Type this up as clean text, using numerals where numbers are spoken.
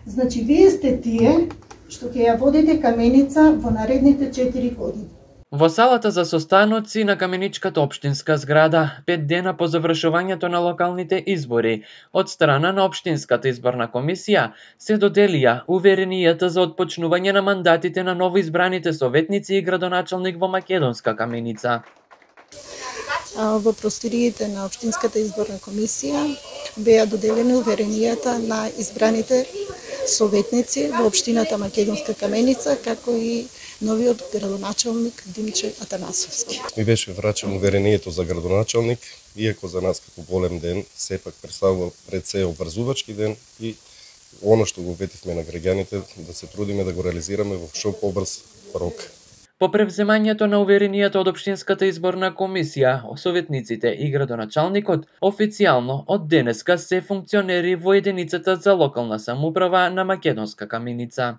Значи, вие сте тие што ќе ја водите Каменица во наредните 4 години. Во салата за состаноци на Каменичката општинска зграда, 5 дена по завршувањето на локалните избори, од страна на Општинската изборна комисија, се доделија уверенијата за отпочнување на мандатите на новоизбраните советници и градоначалник во Македонска Каменица. Во просториите на Општинската изборна комисија беа доделени уверенијата на избраните советници во Општината Македонска Каменица, како и новиот градоначалник Димче Атанасовски. Ми беше врачено уверението за градоначалник, иако за нас како голем ден, сепак представува пред се обврзувачки ден и оно што го ветивме на граѓаните, да се трудиме да го реализираме во што побрз рок. По превземањето на уверенијата од Општинската изборна комисија, советниците и градоначалникот официјално од денеска се функционери во единицата за локална самоуправа на Македонска Каменица.